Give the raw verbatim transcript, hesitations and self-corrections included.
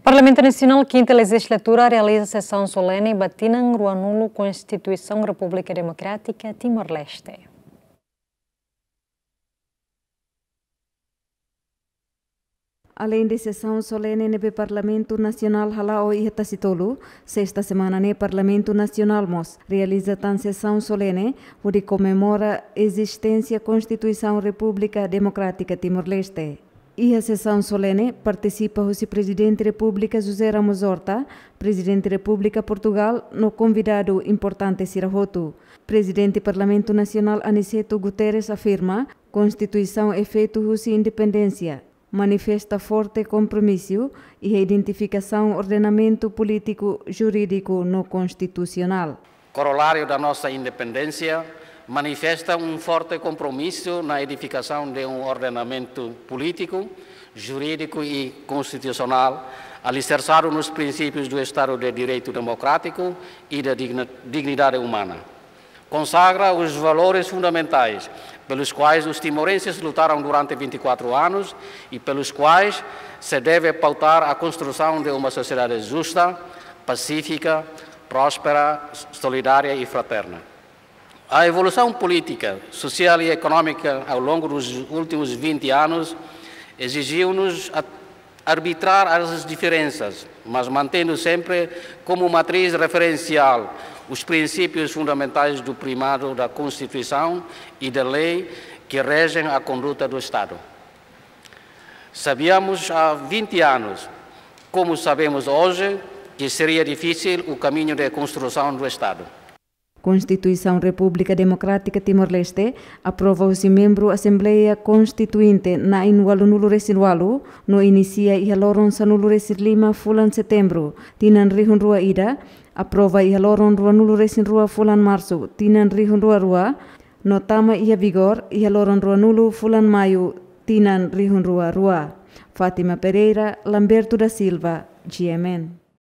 Parlamentu Nasionál, kinta lejizlatura, realiza sesaun solene ba tinan ruanulu Konstituisaun Repúblika Demokrátika Timor-Leste. Aleinde sesaun solene ne'ebé Parlamentu Nasionál hala'o iha Tasitolu, sesta semana ne'e Parlamentu Nasionál mós realiza tan sesaun solene hodi komemora ezisténsia Konstituisaun Repúblika Demokrátika Timor-Leste. Iha sesaun solene partisipa husi Prezidente Repúblika José Ramos Horta, Prezidente Repúblika Portugál no konvidadu importante sira hotu. Prezidente Parlamentu Nasionál Aniceto Guterres afirma, Konstituisaun é feitu husi independénsia, manifesta forte kompromisu iha identifikasaun ordenamentu polítiku, jurídiku no konstitusionál. Corolário da nossa independência, manifesta um forte compromisso na edificação de um ordenamento político, jurídico e constitucional alicerçado nos princípios do Estado de Direito Democrático e da digna-, dignidade humana. Consagra os valores fundamentais pelos quais os timorenses lutaram durante vinte e quatro anos e pelos quais se deve pautar a construção de uma sociedade justa, pacífica, próspera, solidária e fraterna. A evolução política, social e económica ao longo dos últimos vinte anos exigiu-nos a arbitrar as diferenças, mas mantendo sempre como matriz referencial os princípios fundamentais do primado da Constituição e da lei que regem a conduta do Estado. Sabíamos há vinte anos, como sabemos hoje, que seria difícil o caminho de construção do Estado. Konstituisaun Repúblika Demokrátika Timor-Leste aprova husi membru Asembleia Konstituinte na'in ualunulu resin ualu no inisia iha loron sanulu-resin-lima fulan Setembru, tinan rihun rua ida, aprova iha loron ruanulu-resin-rua fulan Marsu, tinan rihun rua rua, no tama iha vigór iha loron ruanulu fulan Maiu, tinan rihun rua rua. Fátima Pereira, Lamberto da Silva, G M N.